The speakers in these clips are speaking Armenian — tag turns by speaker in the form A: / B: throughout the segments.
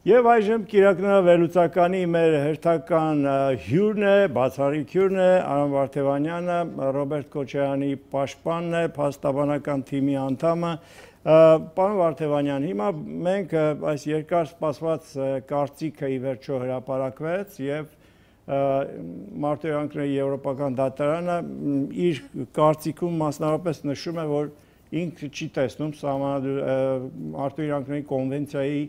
A: Եվ այժմ Կիրակնորավերլուծականի մեր հերթական հյուրն է, բացառիկ հյուրն է, Արամ Վարդևանյանը, Ռոբերտ Քոչարյանի պաշտպանն է, փաստաբանական թիմի անդամը։ Պարոն Վարդևանյան, հիմա մենք այս երկար սպասված կարծիքը ի վերջո հրապարակվեց եւ Մարտիրոսյանի Եվրոպական դատարանը իր կարծիքում մասնավորապես նշում է, որ ինքը չի տեսնում Մարտիրոսյանի կոնվենցիայի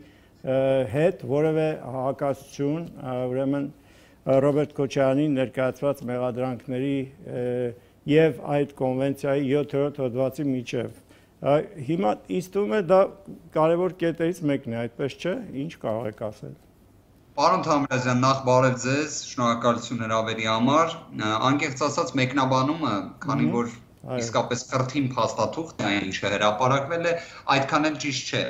A: հետ որևէ հակասություն, ուրեմն Ռոբերտ Քոչարյանի ներկայացված մեղադրանքների եւ այդ կոնվենցիայի 7-րդ հոդվածի միջև։ Հիմա ինձ թվում է դա կարևոր կետերից մեկն է, այդպես չէ՞, ինչ կարող եք ասել։
B: Պարոն Թամրազյան, նախ բարև ձեզ, շնորհակալություն հրավերի համար։ Անկեղծ ասած մեկնաբանումը, քանի որ իսկապես կրթին փաստաթուղթ է, ինչը հրապարակվել է, այդքան էլ ճիշտ չէ։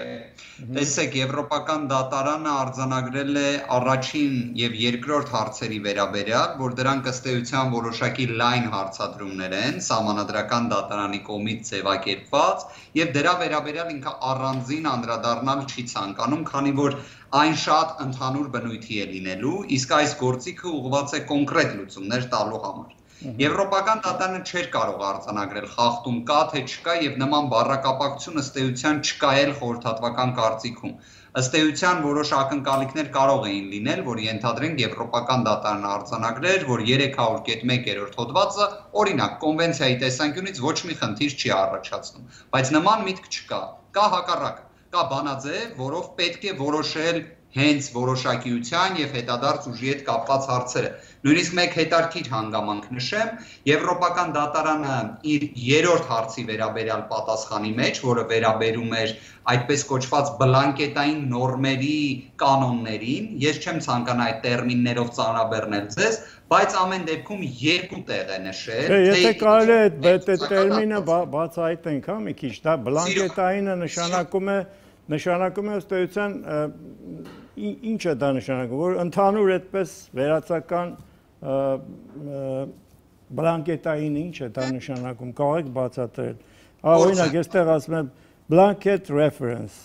B: Տեսեք, Եվրոպական դատարանը արձանագրել է առաջին եւ երկրորդ հարցերի վերաբերյալ, որ դրանք ըստ էության որոշակի լայն հարցադրումներ են, սահմանադրական դատարանի կողմից ձևակերպված, եւ դրա վերաբերյալ ինքը առանձին անդրադառնալ չի ցանկանում, քանի որ այն շատ ընդհանուր բնույթի է լինելու, իսկ այս գործիքը ուղղված է կոնկրետ լուծումներ տալու համար։ Եվրոպական դատարանը չէր կարող արձանագրել խախտում կա թե չկա եւ նման բառակապակցություն ըստ էության չկա էլ խորհրդատվական կարծիքում։ Ըստ էության որոշ ակնկալիքներ կարող էին լինել, որ ենթադրենք Եվրոպական դատարանը արձանագրեր, որ 300.1 հոդվածը օրինակ կոնվենցիայի տեսանկյունից ոչ մի խնդիր չի առաջացնում, բայց նման միտք չկա, կա հակառակը, կա բանաձև, որով պետք է որոշել հենց որոշակիության եւ հետադարձ ուժի հետ կապված հարցերը։ Նույնիսկ մեկ հետարքիր հանգամանք նշեմ, Եվրոպական դատարանը իր երրորդ հարցի վերաբերյալ պատասխանի մեջ, որը վերաբերում էր այդպես կոչված բլանկետային նորմերի կանոններին, ես չեմ ցանկանա այդ տերմիններով ծանրաբեռնել ձեզ, բայց ամեն դեպքում երկու տեղ է նշել։
A: Եթե կարելի է այդ տերմինը բացահայտենք, հա, մի քիչ, դա բլանկետայինը նշանակում է ըստ էության ինչ է դա նշանակում, որ ընդհանուր այդպես վերացական բլանկետային ինչ է դա նշանակում, կարող եք բացատրել։ Օրինակ, այստեղ ասում եմ blanket reference,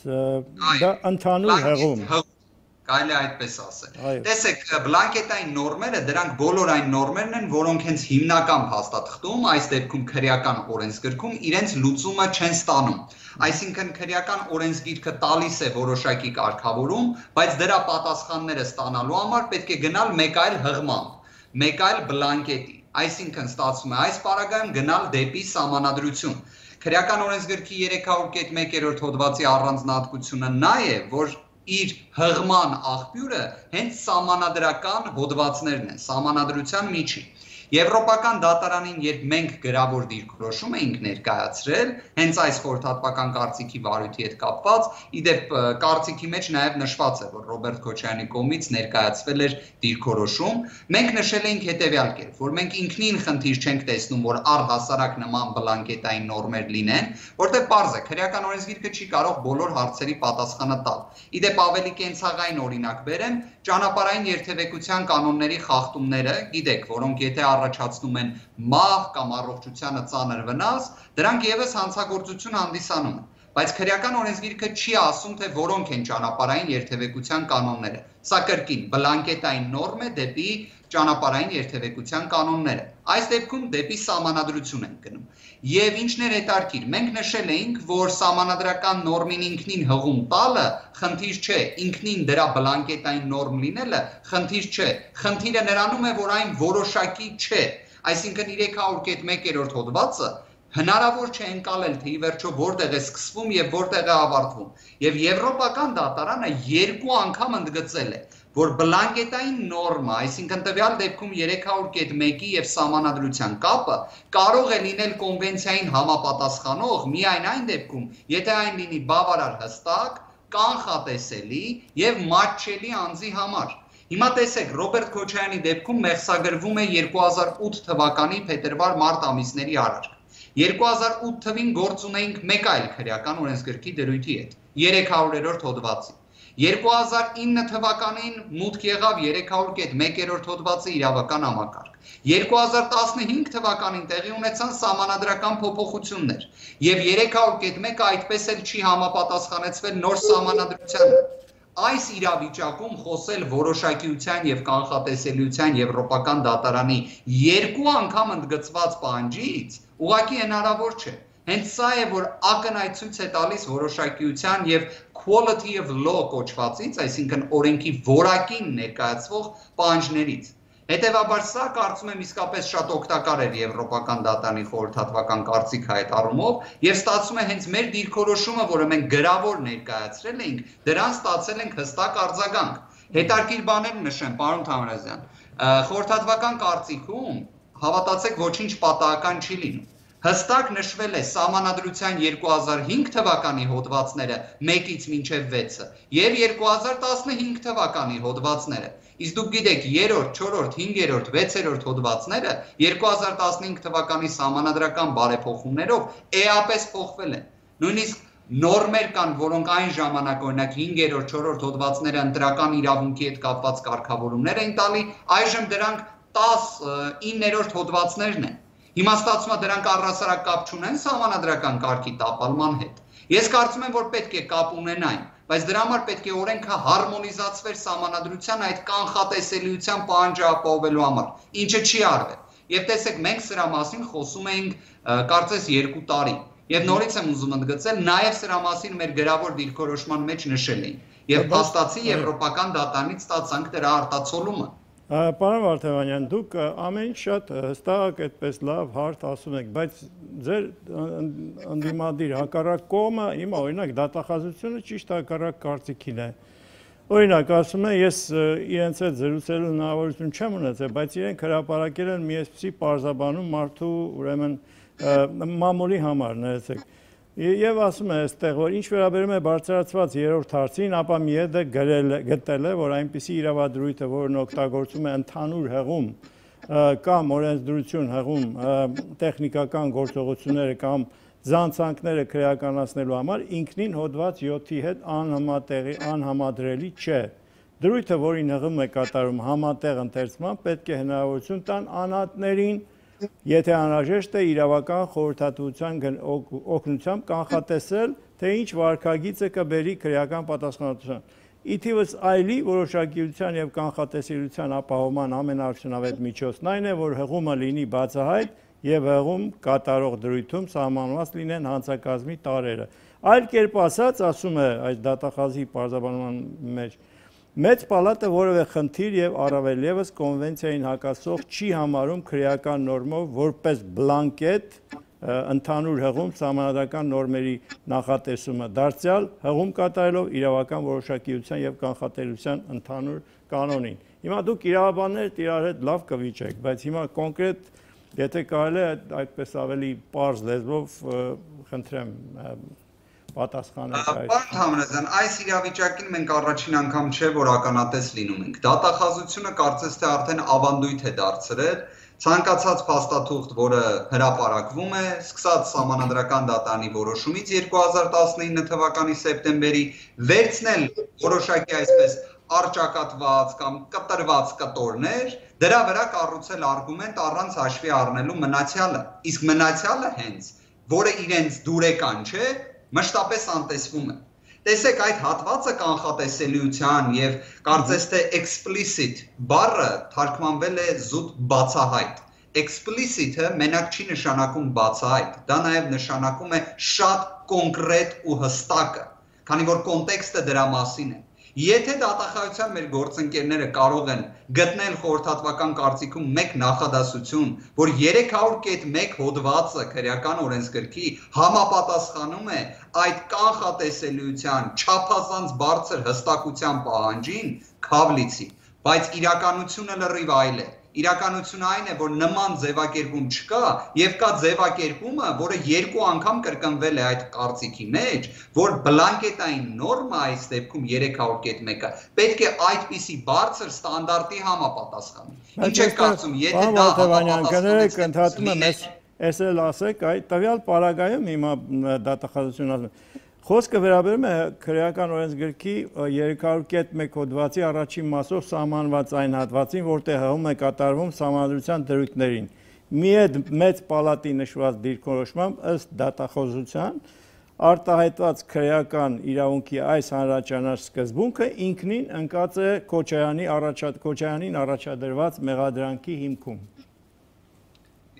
A: դա ընդհանուր հղում։
B: Կարելի է այդպես ասել։ Տեսեք, բլանկետային նորմերը, դրանք բոլոր այն նորմերն են, որոնք հենց հիմնական փաստաթղթում, այս դեպքում քրեական օրենսգրքում, իրենց լուծումը չեն ստանում։ Այսինքն քրեական օրենսգիրքը տալիս է որոշակի կարգավորում, բայց դրա պատասխանները ստանալու համար պետք է գնալ մեկ այլ հղմամբ, մեկ այլ բլանկետի։ Այսինքն ստացվում է այս պարագայում գնալ դեպի սահմանադրություն։ Քրեական օրենսգրքի 300.1 հոդվածի առանձնահատկությունը նա է, որ իր հղման աղբյուրը հենց սահմանադրական հոդվածներն են, սահմանադրության միջին։ Եվրոպական դատարանին, երբ մենք գրավոր դիրքորոշում էինք ներկայացրել, հենց այս խորհրդատվական կարծիքի վարույթի հետ կապված, իդեպ կարծիքի մեջ նաև նշված է, որ Ռոբերտ Քոչարյանի կողմից ներկայացվել էր դիրքորոշում, մենք նշել էինք հետևյալ կերպ, որ մենք ինքնին խնդիր չենք տեսնում, որ առհասարակ նման բլանկետային նորմեր լինեն, որտեղ պարզ է, քրեական օրենսգիրքը չի կարող բոլոր հարցերի պատասխանը տալ։ Իդեպ ավելի կենցաղային օրինակ բերեմ, ճանապարհային երթևեկության կանոնների խախտումները, գիտեք, որոնք եթե առաջացնում են մահ կամ առողջությանը ծանր վնաս, դրանք եւս հանցագործություն հանդիսանում են։ Բայց քրեական օրենսգիրքը չի ասում, թե որոնք են ճանապարհային երթևեկության կանոնները։ Սա կրկին բլանկետային նորմ է դեպի ճանապարհային երթևեկության կանոնները։ Այս դեպքում դեպի սահմանադրություն են գնում։ Եվ ինչն էր հետարքիր, մենք նշել էինք, որ սահմանադրական նորմին ինքնին հղում տալը խնդիր չէ, ինքնին դրա բլանկետային նորմ լինելը խնդիր չէ։ Խնդիրը նրանում է, որ այն որոշակի չէ։ Այսինքն 300.1 հոդվածը հնարավոր չէ ընկալել, թե ի վերջո որտեղ է սկսվում եւ որտեղ է ավարտվում։ Եվ Եվրոպական դատարանը երկու անգամ ընդգծել է, որ բլանկետային նորմը, այսինքն տվյալ դեպքում 300.1-ի եւ սահմանադրության կապը կարող է լինել կոնվենցիային համապատասխանող միայն այն դեպքում, եթե այն լինի բավարար հստակ, կանխատեսելի եւ մատչելի անձի համար։ Հիմա տեսեք, Ռոբերտ Քոչարյանի դեպքում մեղսագրվում է 2008 թվականի փետրվար-մարտ ամիսների արարք։ 2008 թվին գործ ունեինք մեկ այլ քրեական օրենսգրքի դրույթի հետ, 300-րդ հոդվածի։ 2009 թվականին մուտք եղավ 300.1 հոդվածի իրավական համակարգ։ 2015 թվականին տեղի ունեցան սահմանադրական փոփոխություններ, եւ 300.1-ը այդպես էլ չի համապատասխանեցվել նոր սահմանադրությանը։ այս իրավիճակում խոսել որոշակիության եւ կանխատեսելիության եվրոպական դատարանի երկու անգամ ընդգծված պահանջից ուղղակի հնարավոր չէ։ Հենց սա է, որ ակնհայտ ցույց է տալիս որոշակիության եւ quality of law կոչվածից, այսինքն օրենքի որակին ներկայացվող պահանջներից։ Հետևաբար սա կարծում եմ իսկապես շատ օգտակար էր եվրոպական դատարանի խորհրդատվական կարծիքը այդ առումով եւ ստացվում է հենց մեր դիրքորոշումը, որը մենք գրավոր ներկայացրել էինք, դրան ստացել ենք հստակ արձագանք։ Հետարքիր բաներ նշեմ, պարոն Թամրազյան, խորհրդատվական կարծիքում հավատացեք ոչինչ պատահական չի լինում։ Հստակ նշվել է Սահմանադրության 2005 թվականի հոդվածները 1-ից մինչև 6-ը եւ 2015 թվականի հոդվածները։ Իսկ դուք գիտեք 3-րդ, 4-րդ, 5-րդ, 6-րդ հոդվածները 2015 թվականի սահմանադրական բարեփոխումներով էապես փոխվել են։ Նույնիսկ նորմեր կան, որոնք այն ժամանակ օրինակ 5-րդ, 4-րդ հոդվածները ընտրական իրավունքի հետ կապված կարգավորումներ են տալի, այժմ դրանք 19-րդ հոդվածներն են։ Հիմա ստացվում է դրանք առհասարակ կապ չունեն սահմանադրական կարգի տապալման հետ։ Ես կարծում եմ, որ պետք է կապ ունենային, բայց դրա համար պետք է օրենքը հարմոնիզացվեր սահմանադրության այդ կանխատեսելիության պահանջը ապահովելու համար, ինչը չի արվել։ Եվ տեսեք, մենք սրա մասին խոսում էինք կարծես 2 տարի։ Եվ նորից եմ ուզում ընդգծել, նաև սրա մասին մեր գրավոր դիրքորոշման մեջ նշել էինք։ Եվ փաստացի եվրոպական դատարանից ստացանք դրա արտացոլումը։
A: Պարոն Վարդանյան, դուք ամեն շատ հստակ այդպես լավ հարթ ասում եք, բայց ձեր ընդդիմադիր հակառակ կողմը հիմա օրինակ դատախազությունը ճիշտ հակառակ կարծիքին է։ Օրինակ ասում են, ես իրենց հետ զրուցելու հնարավորություն չեմ ունեցել, բայց իրենք հրապարակել են մի այսպիսի պարզաբանում մարդու ուրեմն մամուլի համար, ներեցեք։ Եվ ասում է այստեղ, որ ինչ վերաբերում է բարձրացված 3-րդ հարցին, ապա ՄԻԵԴ-ը գտել է, որ այնպիսի իրավադրույթը, որն օգտագործում է ընդհանուր հեղում կամ օրենսդրություն հեղում տեխնիկական գործողությունները կամ զանցանքները քրեականացնելու համար, ինքնին հոդված 7-ի հետ անհամադրելի չէ։ Դրույթը, որին հղում է կատարում համատեղ ընթերցման, պետք է հնարավորություն տան անհատներին, եթե անհրաժեշտ է իրավական խորհրդատվության օգնությամբ կանխատեսել, թե ինչ վարքագիծը կբերի քրեական պատասխանատվության։ Ի թիվս այլի որոշակիության եւ կանխատեսելիության ապահովման ամենաարդյունավետ միջոցն այն է, որ հղումը լինի բացահայտ եւ հղում կատարող դրույթում սահմանված լինեն հանցակազմի տարրերը։ Այլ կերպ ասած, ասում է այս դատախազի պարզաբանման մեջ, Մեծ պալատը որևէ խնդիր եւ առավել եւս կոնվենցիային հակասող չի համարում քրեական նորմով որպես բլանկետ ընդհանուր հղում սահմանադրական նորմերի նախատեսումը դարձյալ հղում կատարելով իրավական որոշակիության եւ կանխատեսության ընդհանուր կանոնին։ Հիմա դուք իրավաբաններ իրար հետ լավ կվիճեք, բայց հիմա կոնկրետ եթե կարելի է այդպես ավելի պարզ լեզվով խնդրեմ պատասխանեք այս։
B: Պարոն Թամրազյան, այս իրավիճակին մենք առաջին անգամ չէ, որ ականատես լինում ենք։ Դատախազությունը կարծես թե արդեն ավանդույթ է դարձրել ցանկացած փաստաթուղթ, որը հրապարակվում է, սկսած Սահմանադրական դատարանի որոշումից 2019 թվականի սեպտեմբերի, վերցնել որոշակի այսպես արճակատված կամ կտրված կտորներ, դրա վրա կառուցել արգումենտ առանց հաշվի առնելու մնացյալը։ Իսկ մնացյալը հենց, որը իրենց դուրեկան չէ, մշտապես անտեսվում է։ Տեսեք, այդ հատվածը կանխատեսելիության եւ կարծես թե explicit բառը թարգմանվել է զուտ բացահայտ։ Explicit-ը մենակ չի նշանակում բացահայտ, դա նաեւ նշանակում է շատ կոնկրետ ու հստակը, քանի որ կոնտեքստը դրա մասին է։ Եթե դատախազության մեր գործընկերները կարող են գտնել խորհրդատվական կարծիքում մեկ նախադասություն, որ 300.1 հոդվածը քրեական օրենսգրքի համապատասխանում է այդ կանխատեսելիության չափազանց բարձր հստակության պահանջին, քավ լիցի, բայց իրականությունը լրիվ այլ է։ Իրականությունը այն է, որ նման ձևակերպում չկա եւ կա ձևակերպումը, որը 2 անգամ կրկնվել է այդ կարծիքի մեջ, որ բլանկետային նորմա այս դեպքում 300.1-ը պետք է այդպիսի բարձր ստանդարտի համապատասխանի։ Ինչ եք կարծում, եթե դա
A: կներեք, ընդհատում եմ, ես էլ ասեք, այդ տվյալ պարագայում հիմա դատախազությունը ասում է Խոսքը վերաբերում է քրեական օրենսգրքի 300.1 հոդվածի առաջին մասով սահմանված այն հատվածին, որտեղ հղում է կատարվում սահմանադրության դրույթներին։ Մեծ պալատի նշված դիրքորոշմամբ ըստ դատախազության արտահայտված քրեական իրավունքի այս հանրաճանաչ սկզբունքը ինքնին ընկած է Քոչայանին առաջադրված մեղադրանքի հիմքում։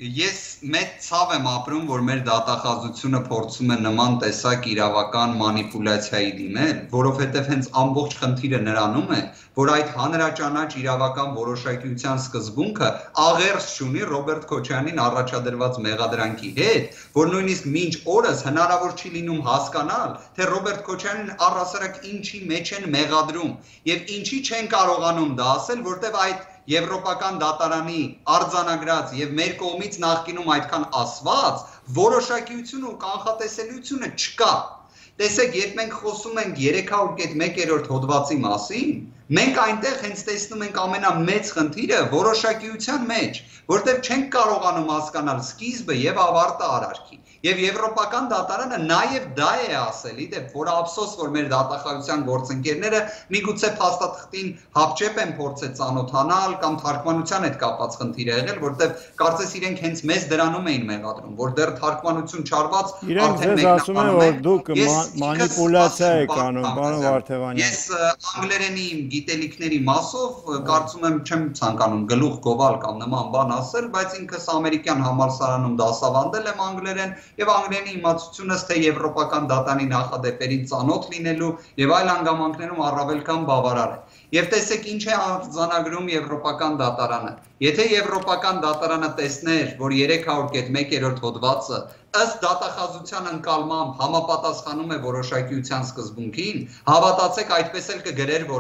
B: Ես մեծ ցավ եմ ապրում, որ մեր դատախազությունը փորձում է նման տեսակ իրավական մանիպուլյացիայի դիմել, որովհետև հենց ամբողջ խնդիրը նրանում է, որ այդ հանրաճանաչ իրավական որոշակիության սկզբունքը աղերս չունի Ռոբերտ Քոչայանին առաջադրված մեղադրանքի հետ, որ նույնիսկ մինչ օրս հնարավոր չի լինում հասկանալ, թե Ռոբերտ Քոչյանին առհասարակ ինչի մեջ են մեղադրում եւ ինչի չեն կարողանում դա ասել, որտեղ այդ Եվրոպական դատարանի արձանագրած եւ մեր կողմից նախկինում այդքան ասված որոշակիություն ու կանխատեսելիությունը չկա։ Տեսեք, երբ մենք խոսում ենք 300.1 հոդվածի մասին, մենք այնտեղ հենց տեսնում ենք ամենամեծ խնդիրը որոշակիության մեջ, որտեղ չենք կարողանում հասկանալ սկիզբը եւ ավարտը արարքի։ Եվ Եվրոպական դատարանը նաև դա է ասել, իդեպ, որ ափսոս, որ մեր դատախազության գործընկերները միգուցե փաստաթղթին հապճեպ են փորձել ծանոթանալ կամ թարգմանության հետ կապված խնդիր է եղել, որտեղ կարծես իրենք հենց մեզ դրանում էին մեղադրում, որ դեռ թարգմանություն չարված
A: արդեն ասում են, որ դուք մանիպուլյացիա եք անում, պարոն Վարդևանյան։
B: Ես անգլերենի գիտելիքների մասով կարծում եմ չեմ ցանկանում գլուխ գովալ կամ նման բան ասել, բայց ինքս ամերիկյան համալսարանում դասավանդել եմ անգլերեն եւ անգլերենի իմացությունս թե եվրոպական դատարանի նախադեպերին ծանոթ լինելու եւ այլ հանգամանքներում առավել քան բավարար է։ Եվ տեսեք ինչ է արձանագրում Եվրոպական դատարանը։ Եթե Եվրոպական դատարանը տեսներ, որ 300.1 հոդվածը ըստ դատախազության ընկալմամբ համապատասխանում է որոշակիության սկզբունքին, հավատացեք, այդպես էլ կգրեր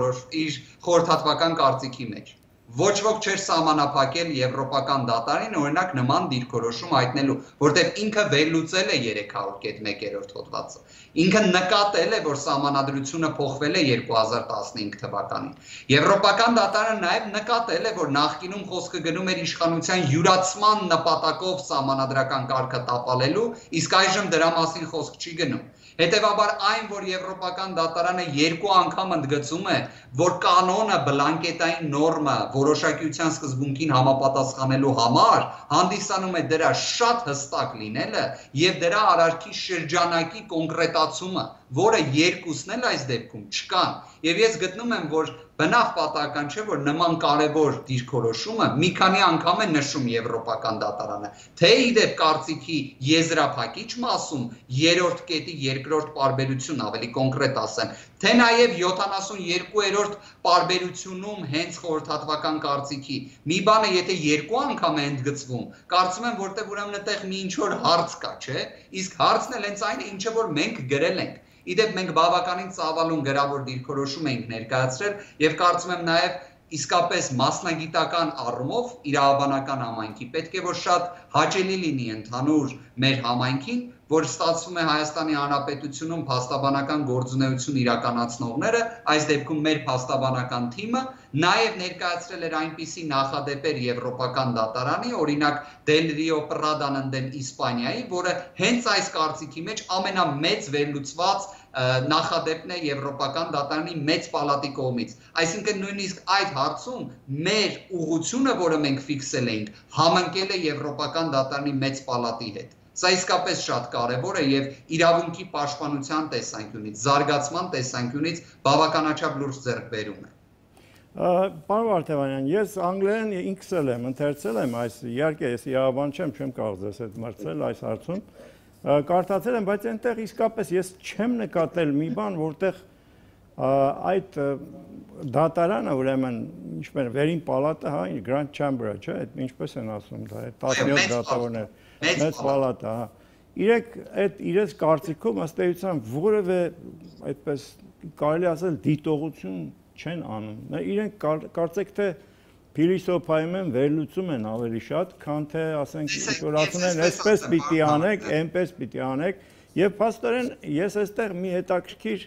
B: իր խորհրդատվական կարծիքի մեջ։ Ոչ ոք չէր սահմանափակել Եվրոպական դատարանին օրինակ նման դիրքորոշում հայտնելու, որտեղ ինքը վերլուծել է 300.1 հոդվածը։ Ինքը նկատել է, որ սահմանադրությունը փոխվել է 2015 թվականին։ Եվրոպական դատարանը նաև նկատել է, որ նախկինում խոսքը գնում էր իշխանության յուրացման նպատակով սահմանադրական կարգը տապալելու, իսկ այժմ դրա մասին խոսք չի գնում։ Հետևաբար այն, որ Եվրոպական դատարանը երկու անգամ ընդգծում է, որ կանոնը բլանկետային նորմը որոշակիության սկզբունքին համապատասխանելու համար հանդիսանում է դրա շատ հստակ լինելը եւ դրա արարքի շրջանակի կոնկրետացումը, որը երկուսն էլ այս դեպքում չկան։ Եվ ես գտնում եմ, որ բնավ պատահական չէ, որ նման կարևոր դիրքորոշումը մի քանի անգամ է նշում Եվրոպական դատարանը, թե իդեպ կարծիքի եզրափակիչ մասում երրորդ կետի երկրորդ պարբերություն ավելի կոնկրետ ասեմ, թե նաև 72-րդ պարբերությունում հենց խորհրդատվական կարծիքի մի բանը եթե երկու անգամ է ընդգծվում, կարծում եմ, որտեղ ուրեմն այդտեղ մի ինչ-որ հարց կա, չէ՞, իսկ հարցն էլ հենց այն է, ինչը որ մենք գրել ենք։ Իդեպ մենք բավականին ծավալուն գրավոր դիրքորոշում ենք ներկայացրել եւ կարծում եմ նաեւ իսկապես մասնագիտական առումով իրավաբանական համայնքի պետք է որ շատ հաճելի լինի ընդհանուր մեր համայնքին, որ ստացվում է Հայաստանի Հանրապետությունում փաստաբանական գործունեություն իրականացնողները, այս դեպքում մեր փաստաբանական թիմը, նաև ներկայացրել էր այնպիսի նախադեպեր Եվրոպական դատարանի, օրինակ Del Rio Pradան ընդդեմ Իսպանիայի, որը հենց այս կարծիքի մեջ ամենամեծ վերլուծված նախադեպն է Եվրոպական դատարանի մեծ պալատի կողմից։ Այսինքն նույնիսկ այդ հարցում մեր ուղղությունը, որը մենք ֆիքսել էինք, համընկել է Եվրոպական դատարանի մեծ պալատի հետ։ Սա իսկապես շատ կարևոր է եւ իրավունքի պաշտպանության տեսանկյունից, զարգացման տեսանկյունից բավականաչափ լուրջ ձեռքբերում է։
A: Պարոն Վարդևանյան, ես անգլերեն ինքս էլ եմ ընթերցել եմ այս, իհարկե ես իրավաբան չեմ կարող ձեզ հետ մրցել այս հարցում, կարդացել եմ, բայց այնտեղ իսկապես ես չեմ նկատել մի բան, որտեղ այդ դատարանը ուրեմն ինչպես վերին պալատը, հա, Grand Chamber-ը, չէ՞, ինչպես են ասում դա, 17 դատավորներ, մեծ պալատը, հա։ Իրենք այդ իրենց կարծիքով ըստ էության որևէ այդպես կարելի ասել դիտողություն չեն անում։ Իրենք կարծեք թե փիլիսոփայում են, վերլուծում են ավելի շատ, քան թե ասենք ինչ-որ ասում են, այսպես պիտի անեք, այնպես պիտի անեք, եւ փաստորեն ես այստեղ մի հետաքրքիր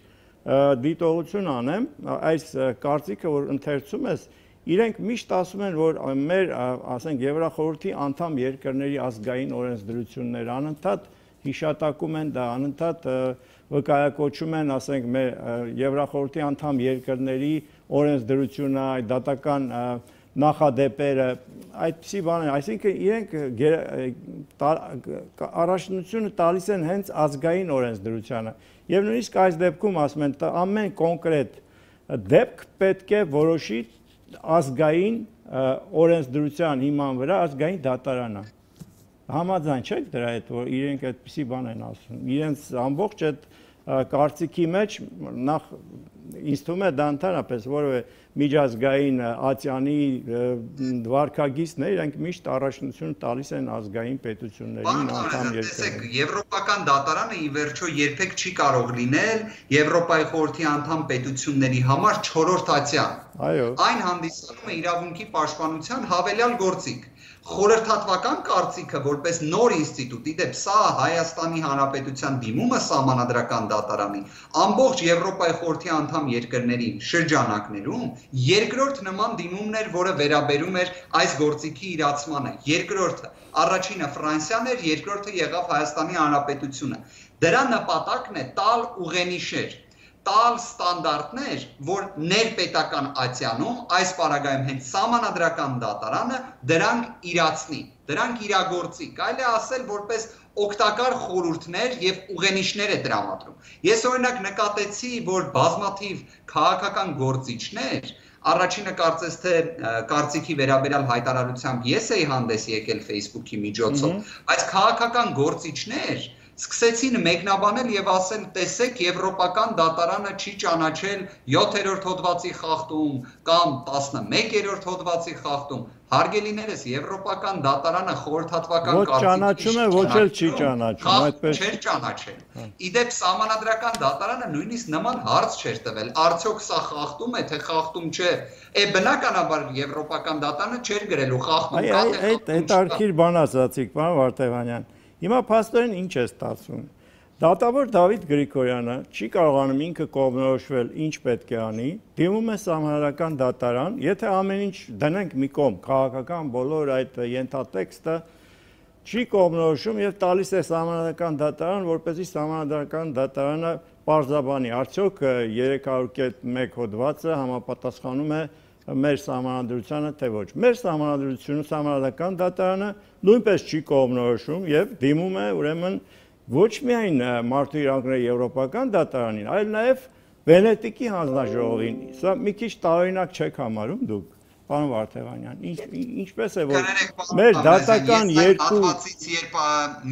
A: դիտողություն անեմ, այս կարծիքը, որ ընթերցում ես, իրենք միշտ ասում են, որ մեր, ասենք, Եվրախորհրդի անդամ երկրների ազգային օրենսդրությունները անընդհատ հիշատակում են դա, անընդհատ վկայակոչում են, ասենք, մեր Եվրախորհրդի անդամ երկրների օրենսդրությունը, այդ դատական նախադեպերը, այդպիսի բաներ, այսինքն իրենք առաջնությունը տալիս են հենց ազգային օրենսդրությանը։ Եվ նույնիսկ այս դեպքում ասում են, ամեն կոնկրետ դեպք պետք է որոշի ազգային օրենսդրության հիման վրա ազգային դատարանը։ Համաձայն չեք դրա հետ, որ իրենք այդպիսի բան են ասում։ Իրենց ամբողջ այդ կարծիքի մեջ նախ ինձ թվում է դա ընդհանրապես որևէ միջազգային Ատյանի վարքագիծներ, իրենք միշտ առաջնություն տալիս են ազգային պետություններին, անդամ երկրներին։
B: Եվրոպական դատարանը ի վերջո երբեք չի կարող լինել Եվրոպայի խորհրդի անդամ պետությունների համար 4-րդ ատյան։ Այն հանդիսանում է իրավունքի պաշտպանության հավելյալ գործիք։ Խորհրդատվական կարծիքը որպես նոր ինստիտուտ, իդեպ սա Հայաստանի Հանրապետության դիմումը սահմանադրական դատարանի ամբողջ Եվրոպայի խորհրդի անդամ երկրներին շրջանակներում երկրորդ նման դիմումն էր, որը վերաբերում էր այս գործիքի իրացմանը։ Երկրորդը, առաջինը Ֆրանսիան էր, երկրորդը եղավ Հայաստանի Հանրապետությունը։ Դրա նպատակն է տալ ուղենիշեր, տալ ստանդարտներ, որ ներպետական ատյանում, այս պարագայում հենց սահմանադրական դատարանը դրանք իրացնի, դրանք իրագործի, կարելի է ասել որպես օգտակար խորհուրդներ եւ ուղենիշներ է տրամադրում։ Ես օրինակ նկատեցի, որ բազմաթիվ քաղաքական գործիչներ, առաջինը կարծես թե կարծիքի վերաբերյալ հայտարարությամբ ես էի հանդես եկել Facebook-ի միջոցով, բայց քաղաքական գործիչներ սկսեցին մեկնաբանել եւ ասել, տեսեք, Եվրոպական դատարանը չի ճանաչել 7-րդ հոդվածի խախտում կամ 11-րդ հոդվածի խախտում։ Հարգելիներս, Եվրոպական դատարանը խորհրդատվական
A: ոչ ճանաչում է, ոչ էլ չի ճանաչում, այդպես
B: չէր ճանաչել։ Իդեպ սահմանադրական դատարանը նույնիսկ նման հարց չէր տվել, արդյոք սա խախտում է, թե խախտում չէ։ Բնականաբար Եվրոպական դատարանը չէր գրելու խախտում կա, թե խախտում չկա։
A: Հետարքիր բան ասացիք, պարոն Վարդևանյան։ Հիմա փաստորեն ինչ է ստացվում։ Դատավոր Դավիթ Գրիգորյանը չի կարողանում ինքը կողմնորոշվել ինչ պետք է անի, դիմում է սահմանադրական դատարան, եթե ամեն ինչ դնենք մի կողմ, քաղաքական բոլոր այդ ենթատեքստը չի կողմնորոշում եւ տալիս է սահմանադրական դատարան, որպեսզի սահմանադրական դատարանը պարզաբանի, արդյոք 300.1 հոդվածը համապատասխանում է մեր սահմանադրությանը, թե ոչ։ Մեր սահմանադրությունը, սահմանադրական դատարանը նույնպես չի կողմնորոշում եւ դիմում է ուրեմն ոչ միայն մարդու իրավունքների եվրոպական դատարանին, այլ նաեւ Վենետիկի հանձնաժողովին։ Սա մի քիչ տարօրինակ չեք համարում դուք, պարոն Վարդևանյան։ Ինչպես է որ մեր դատական երկու
B: երբ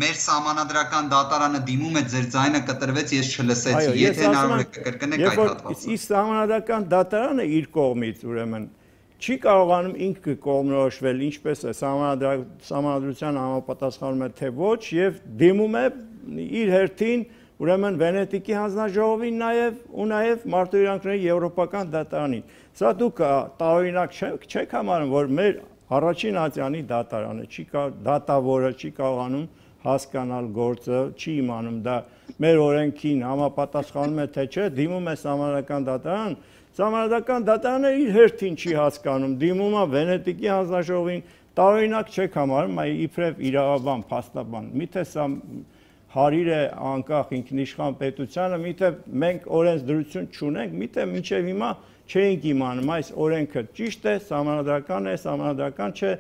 B: մեր սահմանադրական դատարանը դիմում է, ձեր ձայնը կտրվեց, ես չլսեցի։ Եթե հնարավոր է կկրկնեք այդ հատվածը։
A: Իսկ սահմանադրական դատարանը իր կողմից ուրեմն չի կարողանում ինքը կողմնորոշվել, ինչպես է սահմանադրության համապատասխանում է թե ոչ եւ դիմում է իր հերթին ուրեմն Վենետիկի հանձնաժողովին նաեւ մարդու իրավունքների եվրոպական դատարանին։ Սա դուք տարօրինակ չեք համարում, որ մեր առաջին ատյանի դատարանը դատավորը չի կարողանում հասկանալ գործը, չի իմանում դա մեր օրենքին համապատասխանում է թե չէ, դիմում է սահմանադրական դատարան, սահմանադրական դատարանը իր հերթին չի հասկանում, դիմում է Վենետիկի հանձնաժողովին, տարօրինակ չեք համարում, այ իբրև իրավաբան, փաստաբան, միթե սա հարիր է անկախ ինքնիշխան պետությանը, միթե մենք օրենսդրություն չունենք, միթե մինչև հիմա չենք իմանում այս օրենքը ճիշտ է, սահմանադրական չէ,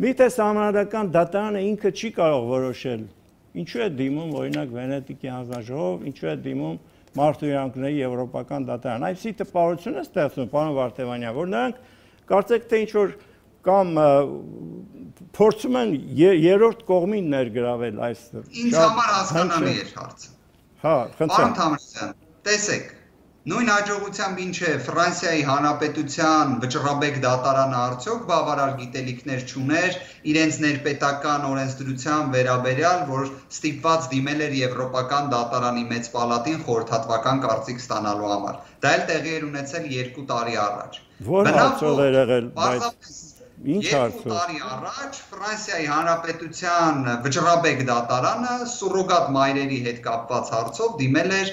A: միթե սահմանադրական դատարանը ինքը չի կարող որոշել, ինչու է դիմում օրինակ Վենետիկի հանձնաժողով, ինչու է դիմում մարդու իրավունքների եվրոպական դատարան, այսպիսի տպավորություն է ստեղծում, պարոն Վարդևանյան, որ նրանք կարծեք թե ինչ-որ կամ փորձում են երրորդ կողմին ներգրավել այս
B: ինձ համար հասկանալի էր հարցը։
A: Հա, խնդրեմ։
B: Պարոն Թամրոսյան, տեսեք, նույն հաջողությամբ ինչ է Ֆրանսիայի Հանրապետության վճռաբեկ դատարանը արդյոք բավարար գիտելիքներ չուներ իրենց ներպետական օրենսդրության վերաբերյալ, որ ստիպված դիմել էր Եվրոպական դատարանի մեծ պալատին խորհրդատվական կարծիք ստանալու համար։ Դա էլ տեղի էր ունեցել 2 տարի առաջ։
A: Որ հարցով էր եղել, բայց ինչ հարցով։
B: 2 տարի առաջ Ֆրանսիայի Հանրապետության վճռաբեկ դատարանը սուրոգատ մայրերի հետ կապված հարցով դիմել էր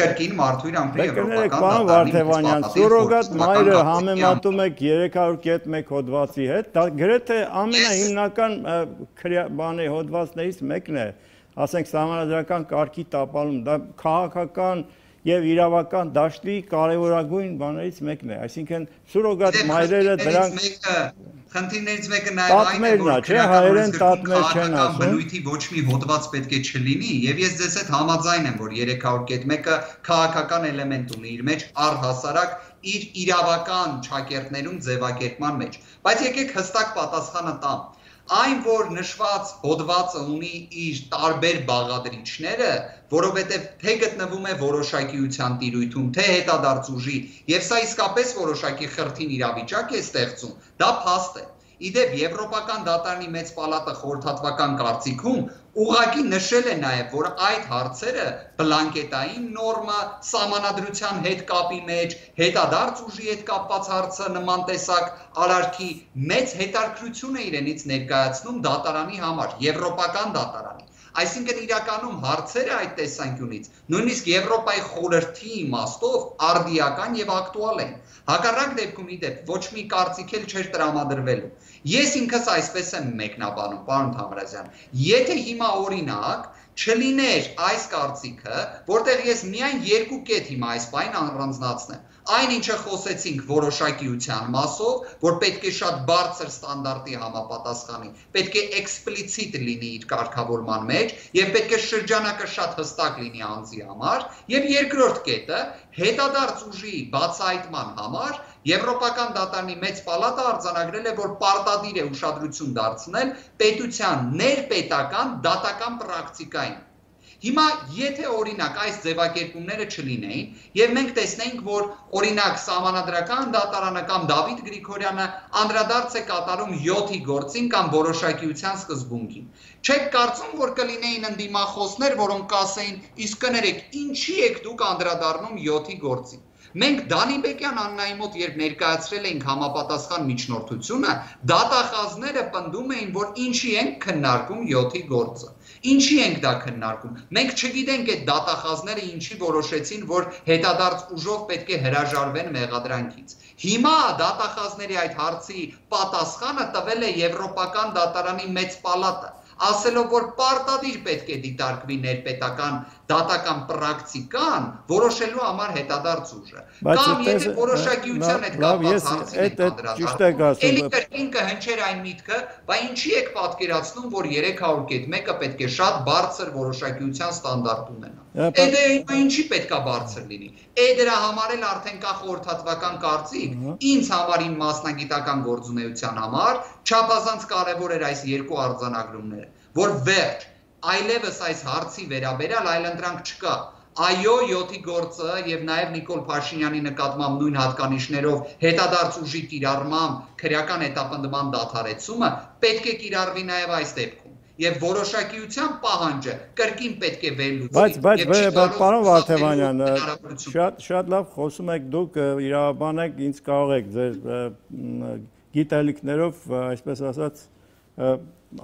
B: կրկին մարդու իրավունքների եվրոպական
A: դատարանի։ Սուրոգատ մայրը համեմատում եք 300.1 հոդվածի հետ, դա գրեթե ամենահիմնական բանի հոդվածներից մեկն է, ասենք սահմանադրական կարգի տապալում, դա քաղաքական եւ իրավական դաշտի կարևորագույն բաներից մեկն է, այսինքն սուրոգատ մայրերը դրանք
B: խնդիրներից մեկը նաեւ այն է, որ հայերեն տատմեր չեն ասում, բնույթի ոչ մի հոդված պետք է չլինի, եւ ես ձեզ հետ համաձայն եմ, որ 300.1-ը քաղաքական էլեմենտ ունի իր մեջ, առհասարակ իր իրավական ճակերտներում ձևակերպման մեջ, բայց եկեք հստակ պատասխանը տամ։ Այն, որ նշված հոդվածը ունի իր տարբեր բաղադրիչները, որովհետև թե գտնվում է որոշակիության տիրույթում, թե հետադարձ ուժի, եւ սա իսկապես որոշակի խրթին իրավիճակ է ստեղծում, դա փաստ է։ Իդեպ Եվրոպական դատարանի մեծ պալատը խորհրդատվական կարծիքում ուղղակի նշել է նաև, որ այդ հարցերը բլանկետային նորմա, սահմանադրության հետ կապի մեջ, հետադարձ ուժի հետ կապված հարցը նման տեսակ արարքի մեծ հետաքրքրություն է իրենից ներկայացնում դատարանի համար, Եվրոպական դատարանի։ Այսինքն իրականում հարցերը այդ տեսանկյունից նույնիսկ Եվրոպայի խորհրդի իմաստով արդիական եւ ակտուալ են։ Հակառակ դեպքում իդեպ ոչ մի կարծիք էլ չէր տրամադրվելու։ Ես ինքս այսպես եմ մեկնաբանում, պարոն Թամրազյան, եթե հիմա օրինակ չլիներ այս կարծիքը, որտեղ ես միայն երկու կետ հիմա այս բանին առանձնացնեմ։ Այն ինչը խոսեցինք որոշակիության մասով, որ պետք է շատ բարձր ստանդարտի համապատասխանի, պետք է էքսպլիցիտ լինի իր կարգավորման մեջ եւ պետք է շրջանակը շատ հստակ լինի անձի համար, եւ երկրորդ կետը հետադարձ ուժի բացահայտման համար Եվրոպական դատարանի մեծ պալատը արձանագրել է, որ պարտադիր է ուշադրություն դարձնել պետության ներպետական դատական պրակտիկային։ Հիմա եթե օրինակ այս ձևակերպումները չլինեին եւ մենք տեսնենք, որ օրինակ Սահմանադրական դատարանը կամ Դավիթ Գրիգորյանը անդրադարձ է կատարում 7-ի գործին կամ որոշակիության սկզբունքին, չեք կարծում, որ կլինեին ընդդիմախոսներ, որոնք կասեին, իսկ կներեք, ինչի եք դուք անդրադառնում 7-ի գործին։ Մենք Դանի Բեկյան Աննայի մոտ երբ ներկայացրել էինք համապատասխան միջնորդությունը, դատախազները պնդում էին, որ ինչի ենք քննարկում 7-ի գործը։ Ինչի ենք դա քննարկում։ Մենք չգիտենք այդ դատախազները ինչի որոշեցին, որ հետադարձ ուժով պետք է հրաժարվեն մեղադրանքից։ Հիմա դատախազների այդ հարցի պատասխանը տվել է Եվրոպական դատարանի մեծ պալատը, ասելով, որ պարտադիր պետք է դիտարկվի ներպետական դատական պրակտիկան, որոշելու համար հետադարձ ուժը։ Կամ եթե որոշակիության հետ կապված հարցին եք անդրադառնում, էլի կրկին կհնչեր այն միտքը, բայց ինչի եք պատկերացնում, որ 300.1-ը պետք է շատ բարձր որոշակիության ստանդարտ ունենա։ Էդե ինչի պետքա բարձր լինի։ Դրա համար էլ արդեն կա խորհրդատվական կարծիք, ինձ համար իմ մասնագիտական գործունեության համար չափազանց կարևոր էր այս երկու արձանագրումները, որ վերջ այլևս այս հարցի վերաբերյալ այլընտրանք չկա։ Այո, 7-ի գործը եւ նաեւ Նիկոլ Փաշինյանի նկատմամբ նույն հատկանիշներով հետադարձ ուժի կիրառմամբ քրեական հետապնդման դադարեցումը պետք է կիրառվի նաեւ այս դեպքում։ Եվ որոշակիության պահանջը կրկին պետք է վերլուծվի։
A: Բայց պարոն Վարդևանյան, շատ լավ խոսում եք դուք, իրավաբան եք, ինձ կարող եք ձեր գիտելիքներով, այսպես ասած,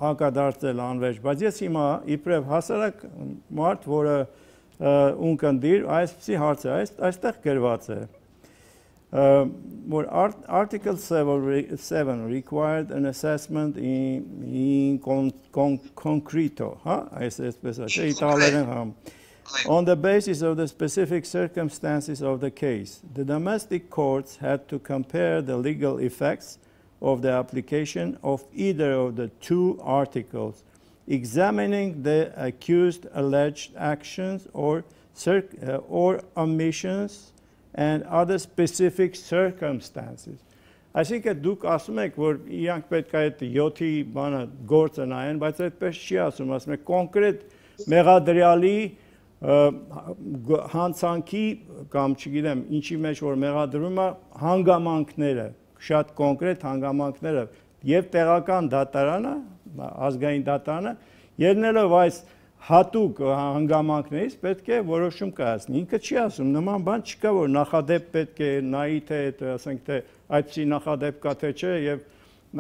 A: հակադարձել անվերջ, բայց ես հիմա իբրև հասարակ մարդ, որը ունկնդիր, այսպիսի հարց է, այստեղ գրված է, որ Article 7 required an assessment in concreto, on the basis of the specific circumstances of the case. The domestic courts had to compare the legal effects of the application of either of the two articles, examining the accused alleged actions or omissions and other specific circumstances. Այսինքն դուք ասում եք, որ իրանք պետք է այդ 7-ի բանը գործը նայեն, բայց այդպես չի ասում, ասում եք կոնկրետ մեղադրյալի հանցանքի կամ չգիտեմ ինչի մեջ որ մեղադրվում է հանգամանքները, շատ կոնկրետ հանգամանքները եւ տեղական դատարանը, ազգային դատարանը ելնելով այս հատուկ հանգամանքներից պետք է որոշում կայացնի։ Ինքը չի ասում, նման բան չկա, որ նախադեպ պետք է նայի թե ասենք թե այդպիսի նախադեպ կա թե չէ եւ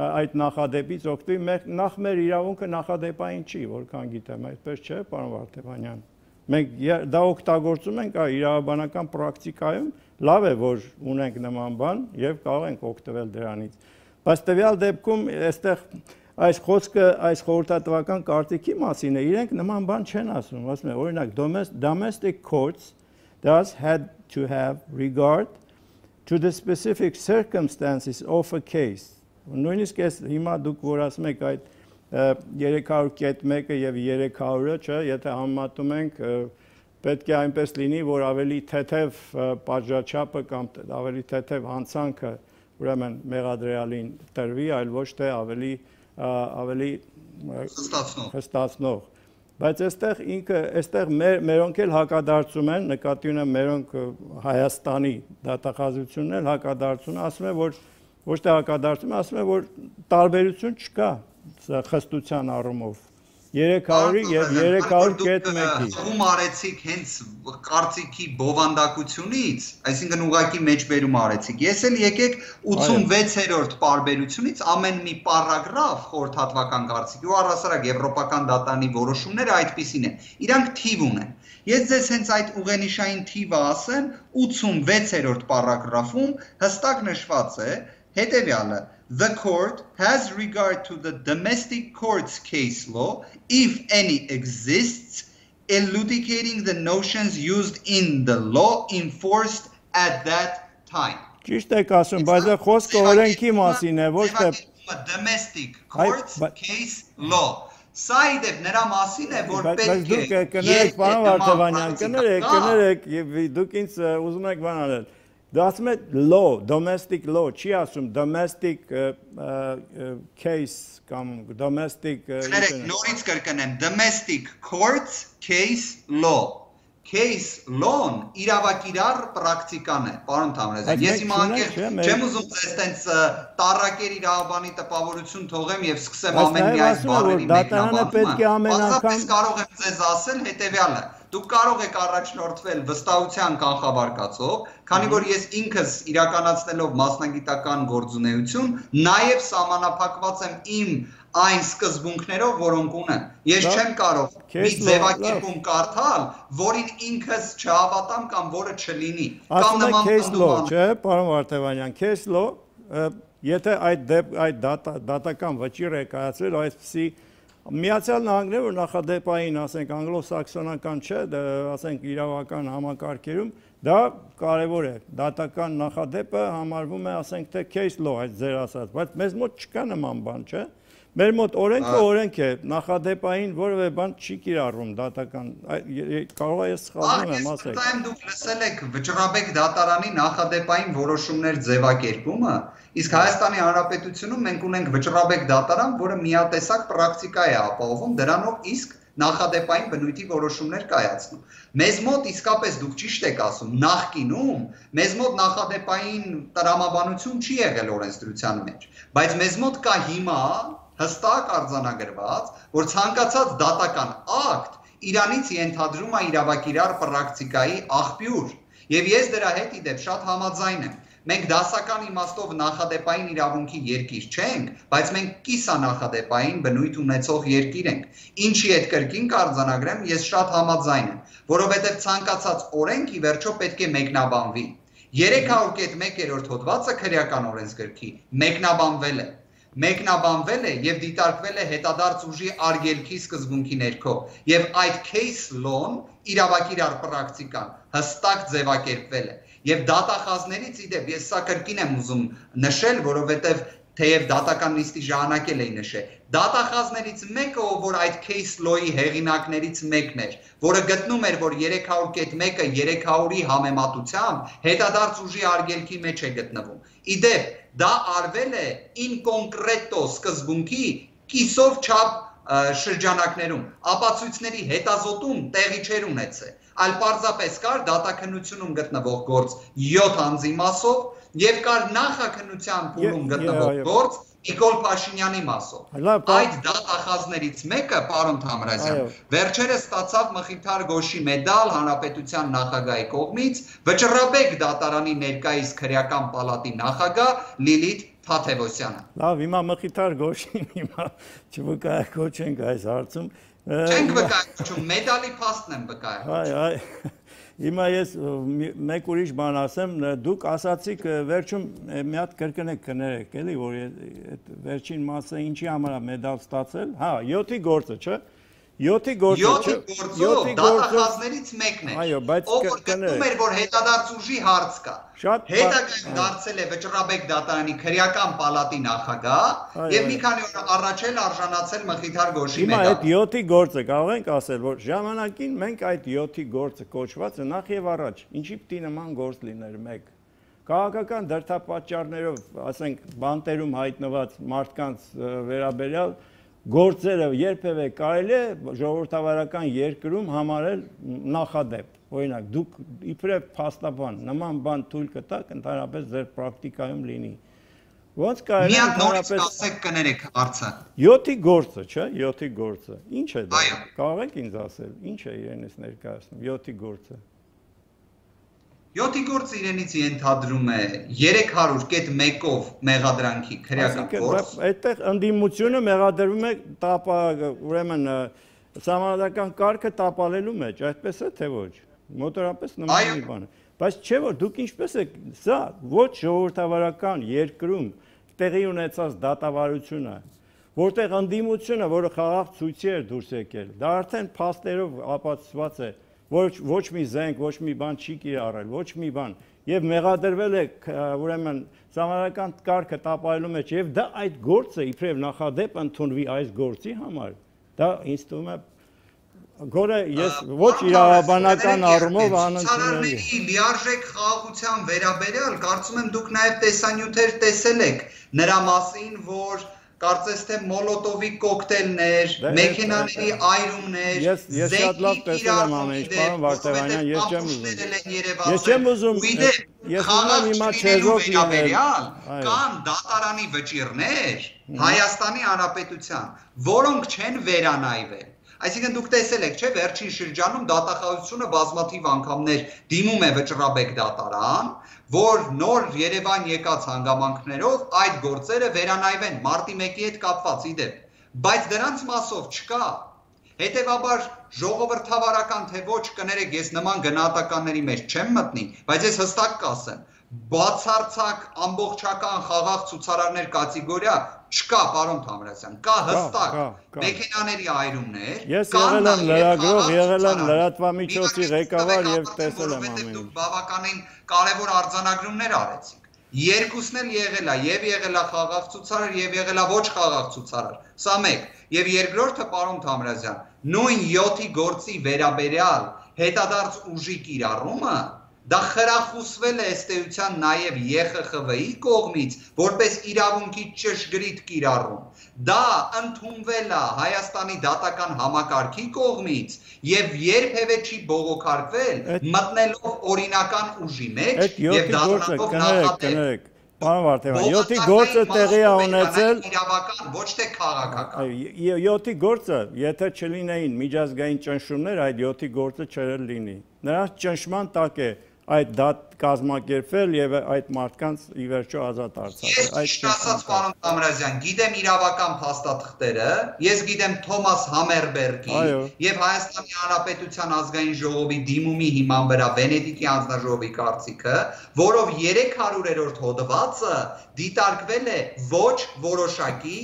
A: այդ նախադեպից օգտվի, նախ մեր իրավունքը նախադեպային չի, որքան գիտեմ, այդպես չէ, պարոն Վարդևանյան։ Մենք դա օգտագործում ենք իրավաբանական պրակտիկայում, լավ է, որ ունենք նման բան եւ կարող ենք օգտվել դրանից։ Բայց տվյալ դեպքում այստեղ այս խոսքը այս խորհրդատվական կարծիքի մասին է, իրենք նման բան չեն ասում, ասում են օրինակ domestic courts thus had to have regard to the specific circumstances of a case. Նույնիսկ ես հիմա դուք որ ասում եք այդ 300.1-ը եւ 300-ը, չէ, եթե համեմատում ենք, պետք է այնպես լինի, որ ավելի թեթև պատժաչափը կամ ավելի թեթև հանցանքը ուրեմն մեղադրյալին տրվի, այլ ոչ թե ավելի հստացնող։ Բայց այստեղ մերոնք էլ հակադարձում են, նկատի ունեմ մերոնք Հայաստանի դատախազությունն էլ հակադարձում են, ասում են, որ ոչ թե հակադարձում, ասում են, որ տարբերություն չկա խստության առումով 300-ի եւ 300.1-ի։
B: Ում արեցիք հենց կարծիքի բովանդակությունից, այսինքն ուղակի մեջբերում արեցիք։ Ես էլ եկեք 86-րդ պարբերությունից ամեն մի պարագրաֆ խորհրդատվական կարծիքի ու առհասարակ եվրոպական դատանի որոշումները այդպիսին են։ Իրանք թիվ ունեն։ Ես ձեզ հենց այդ ուղենիշային թիվը ասեմ, 86-րդ պարագրաֆում հստակ նշված է հետևյալը. The court has regard to the domestic court's case law, if any exists, elucidating the notions used in the law enforced at that time.
A: Ճիշտ եք ասում, բայց խոսքը օրենքի մասին է, ոչ թե
B: domestic court's case law. Սա իդեպ նրա մասին է, որ պետք է։
A: Բայց դուք կներեք, պարոն Վարդավանյան, կներեք, եւ դուք ինձ ուզում եք բան անել։ Դա ասում է law, domestic law, չի ասում domestic case կամ domestic
B: նորից կրկնեմ, domestic courts case law. Case law-ն իրավակիրառ պրակտիկան է, պարոն Թամրազյան։ Ես հիմա չեմ ուզում ձեզ տենց տառակեր իրավաբանի տպավորություն թողեմ եւ սկսեմ ամեն մի այս բառերի մեկնաբանումը։ Պարզապես կարող եմ ձեզ ասել հետեւյալը. Դուք կարող եք առաջնորդվել վստահության կանխավարկածով, քանի որ ես ինքս իրականացնելով մասնագիտական գործունեություն, նաև սահմանափակված եմ իմ այն սկզբունքներով, որոնք ունեմ։ Ես չեմ կարող մի ձևակերպում կարդալ, որին ինքս չհավատամ կամ որը չլինի։ Կամ նման
A: բան, չէ, պարոն Վարդավանյան, case law, եթե այդ դատական վճիռ է կայացրել այսպիսի Միացյալ Նահանգները, որ նախադեպային, ասենք, անգլո-սաքսոնական չէ, ասենք, իրավական համակարգերում, դա կարևոր է, դատական նախադեպը համարվում է, ասենք, թե case law, այդ ձեր ասած, բայց մեզ մոտ չկա նման բան, չէ, մեր մոտ օրենքը օրենք է, նախադեպային որևէ բան չի կիրառվում դատական, կարող է ես սխալվում եմ, ասեք։
B: Այս դուք լսել եք Վճռաբեկ դատարանի նախադեպային որոշումներ ձևակերպումը, իսկ Հայաստանի Հանրապետությունում մենք ունենք Վճռաբեկ դատարան, որը միատեսակ պրակտիկա է ապահովում, դրանով իսկ նախադեպային բնույթի որոշումներ կայացնում։ Մեզ մոտ իսկապես դուք ճիշտ եք ասում, նախկինում մեզ մոտ նախադեպային տրամաբանություն չի եղել օրենսդրության մեջ, բայց մեզ մոտ կա հիմա հստակ արձանագրված, որ ցանկացած դատական ակտ Իրանից ենթադրում է իրավակիրառ պրակտիկայի աղբյուր, եւ ես դրա հետ իդեպ շատ համաձայն եմ։ Մենք դասական իմաստով նախադեպային իրավունքի երկիր չենք, բայց մենք կիսանախադեպային բնույթ ունեցող երկիր ենք։ Ինչի հետ կրկին կարձանագրեմ, ես շատ համաձայն եմ, որովհետև ցանկացած օրենք ի վերջո պետք է մեկնաբանվի։ 300.1-րդ հոդվածը քրեական օրենսգրքի մեկնաբանվել է եւ դիտարկվել է հետադարձ ուժի արգելքի սկզբունքի ներքո եւ այդ case law-ն իրավակիրառ պրակտիկան հստակ ձևակերպվել է եւ դատախազներից իդեպ ես սա կրկին եմ ուզում նշել, որովհետեւ թեև դատական նիստի ժամանակ էի նշել, դատախազներից մեկը, որ այդ case law-ի հեղինակներից մեկն էր, որը գտնում էր, որ 300.1-ը 300-ի համեմատությամբ հետադարձ ուժի արգելքի մեջ է գտնվում։ Իդեպ դա արվել է in concreto սկզբունքի կիսով չափ շրջանակներում, ապացույցների հետազոտում տեղի չէր ունեցել, այլ պարզապես կար դատաքննությունում գտնվող գործ 7 անձի մասով եւ կար նախաքննության փուլում գտնվող գործ Նիկոլ Փաշինյանի մասով։ Այդ դատախազներից մեկը, պարոն Թամրազյան, վերջերս ստացավ Մխիթար Գոշի մեդալ հանրապետության նախագահի կողմից Վճռաբեկ դատարանի ներկայիս քրեական պալատի նախագահ Լիլիթ Թաթևոսյանը։
A: Լավ, հիմա Մխիթար Գոշին հիմա չվկայակոչենք այս հարցում։
B: Չենք վկայակոչում, մեդալի փաստն եմ վկայակոչում։
A: Հիմա ես մեկ ուրիշ բան ասեմ, դուք ասացիք վերջում մի հատ կրկնեք կներեք, էլի, որ այդ վերջին մասը ինչի համար է մեդալ ստացել, հա, 7-ի գործը, չէ, 7-ի գործը
B: դատախազներից մեկն է։
A: Այո, բայց
B: ով որ գտնում էր, որ հետադարձ ուժի հարց կա։ Հետագայում դարձել է Վճռաբեկ դատարանի քրեական պալատի նախագահ եւ մի քանի օր առաջ էլ արժանացել Մխիթար Գոշի
A: մեդալ։ Հիմա այդ 7-ի գործը կարող ենք ասել, որ ժամանակին մենք այդ 7-ի գործը կոչվածը նախ եւ առաջ ինչի պիտի նման գործ լիներ մեկ։ Քաղաքական դրդապատճառներով, ասենք, բանտերում հայտնված մարդկանց վերաբերյալ գործերը երբևէ կարելի է ժողովրդավարական երկրում համարել նախադեպ։ Օրինակ, դուք իբրև փաստաբան նման բան թույլ կտաք, ընդհանրապես ձեր պրակտիկայում լինի։ Ոնց կարելի է
B: ընդհանրապես ասեք կներեք հարցը։
A: 7-ի գործը, չէ՞, 7-ի գործը։ Ինչ է դա։ Կարող եք ինձ ասել, ինչ է իրենից ներկայացնում 7-ի գործը։
B: 7-ի գործը իրենից ենթադրում է 300.1-ով մեղադրանքի քրեական գործ։
A: Այդտեղ ընդդիմությունը մեղադրվում է ուրեմն սահմանադրական կարգը տապալելու մեջ, այդպես է թե ոչ։ Մոտորապես նման մի բան է։ Բայց չէ որ դուք ինչպես եք սա ոչ ժողովրդավարական երկրում տեղի ունեցած դատավարությունը, որտեղ ընդդիմությունը, որը խաղաղ ցույցի էր դուրս եկել, դա արդեն փաստերով ապացուցված է, ոչ մի զենք, ոչ մի բան չի կիրառել, ոչ մի բան, եւ մեղադրվել է ուրեմն սահմանադրական կարգը տապալելու մեջ, եւ դա այդ գործը իբրև նախադեպ ընդունվի այս գործի համար, դա ինձ թվում է Գորե ես ոչ իրավաբանական առումով անընդունելի
B: է։ Լիարժեք խաղաղության վերաբերյալ կարծում եմ դուք նաև տեսանյութեր տեսել եք նրա մասին, որ կարծես թե մոլոտովի կոկտեյլներ, մեքենաների այրումներ,
A: ես շատ լավ տեսել եմ ամեն ինչ, պարոն Վարդևանյան, ես չեմ ուզում հիմա չեզոք
B: վերաբերյալ կան դատարանի վճիռներ Հայաստանի Հանրապետության, որոնք չեն վերանայվել։ Այսինքն դուք տեսել եք, չէ՞, վերջին շրջանում դատախազությունը բազմաթիվ անգամներ դիմում է Վճռաբեկ դատարան, որ նոր Երևան եկած հանգամանքներով այդ գործերը վերանայվեն մարտի 1-ի հետ կապված իդեպ, բայց դրանց մասով չկա։ Հետևաբար ժողովրդավարական թե ոչ կներեք, ես նման գնահատականների մեջ չեմ մտնի, բայց ես հստակ կասեմ, բացարձակ ամբողջական խաղաղ ցուցարարներ կատեգորիա չկա, պարոն Թամրազյան, կա հստակ մեքենաների այրումներ,
A: ես եղել եմ լրագրող, եղել եմ լրատվամիջոցի ղեկավար եւ տեսել եմ ամեն ինչ։
B: Դուք բավականին կարևոր արձանագրումներ արեցիք։ Երկուսն էլ եղել է, եւ եղել է խաղաղ ցուցարար եւ եղել է ոչ խաղաղ ցուցարար։ Սա մեկ։ Եվ երկրորդը, պարոն Թամրազյան, նույն 7-ի գործի վերաբերյալ հետադարձ ուժի կիրառումը դա խրախուսվել է ըստ էության նաև ԵԽԽՎ-ի կողմից, որպես իրավունքի ճշգրիտ կիրառում։ Դա ընդունվել է Հայաստանի դատական համակարգի կողմից եւ երբևէ չի բողոքարկվել մտնելով օրինական ուժի մեջ եւ դառնալով նախադեպ։
A: Պարոն Վարդևանյան, 7-ի գործը տեղի է ունեցել
B: իրավական, ոչ թե քաղաքական։
A: 7-ի գործը, եթե չլինեին միջազգային ճնշումներ, այդ 7-ի գործը չէր լինի։ Նրանց ճնշման տակ է այդ դատ կազմակերպվել եւ այդ մարդկանց ի վերջո ազատ արձակել։
B: Այս ասած պարոն Թամրազյան, գիտեմ իրավական փաստաթղթերը, ես գիտեմ Թոմաս Համերբերգի եւ Հայաստանի Հանրապետության ազգային ժողովի դիմումի հիման վրա Վենետիկի անձնաժողովի կարծիքը, որով 300-րդ հոդվածը դիտարկվել է ոչ որոշակի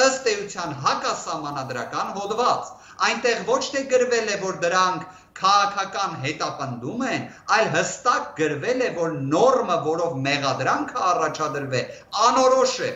B: ըստ էության հակասահմանադրական հոդված։ Այնտեղ ոչ թե գրվել է, որ դրանք քաղաքական հետապնդում են, այլ հստակ գրվել է, որ նորմը, որով մեղադրանքը առաջադրվե, անորոշ է,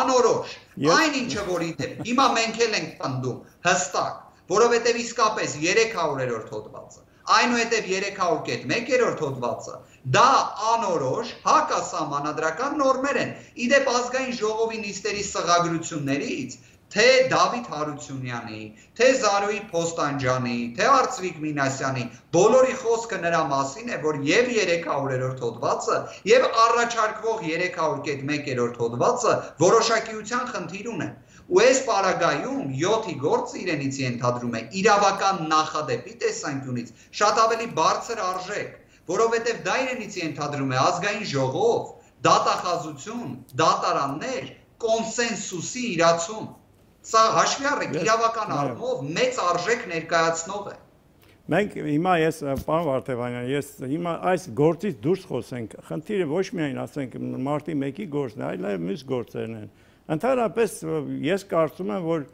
B: անորոշ։ Այն ինչը որ իդեպ հիմա մենք էլ ենք պնդում, հստակ, որովհետև իսկապես 300-րդ հոդվածը, այնուհետև 300.1-րդ հոդվածը, դա անորոշ հակասահմանադրական նորմեր են։ Իդեպ ազգային ժողովի նիստերի սղագրություններից թե Դավիթ Հարությունյանի, թե Զարուհի Փոստանջյանի, թե Արծվիկ Մինասյանի, բոլորի խոսքը նրա մասին է, որ եւ 300-րդ հոդվածը եւ առաջարկվող 300.1-րդ հոդվածը որոշակիության խնդիր ունեն։ Ու այս պարագայում 7-ի գործը իրենից ենթադրում է իրավական նախադեպի տեսանկյունից շատ ավելի բարձր արժեք, որովհետեւ դա իրենից ենթադրում է ազգային ժողով, դատախազություն, դատարաններ, կոնսենսուսի իրացում։ Սա հաշվի առեք իրավական առումով մեծ արժեք ներկայացնող է։
A: Մենք հիմա ես պարոն Վարդևանյան, ես հիմա այս գործից դուրս խոսենք։ Խնդիրը ոչ միայն ասենք մարտի 1-ի գործն է, այլ նաև մյուս գործերն են։ Ընդհանրապես ես կարծում եմ, որ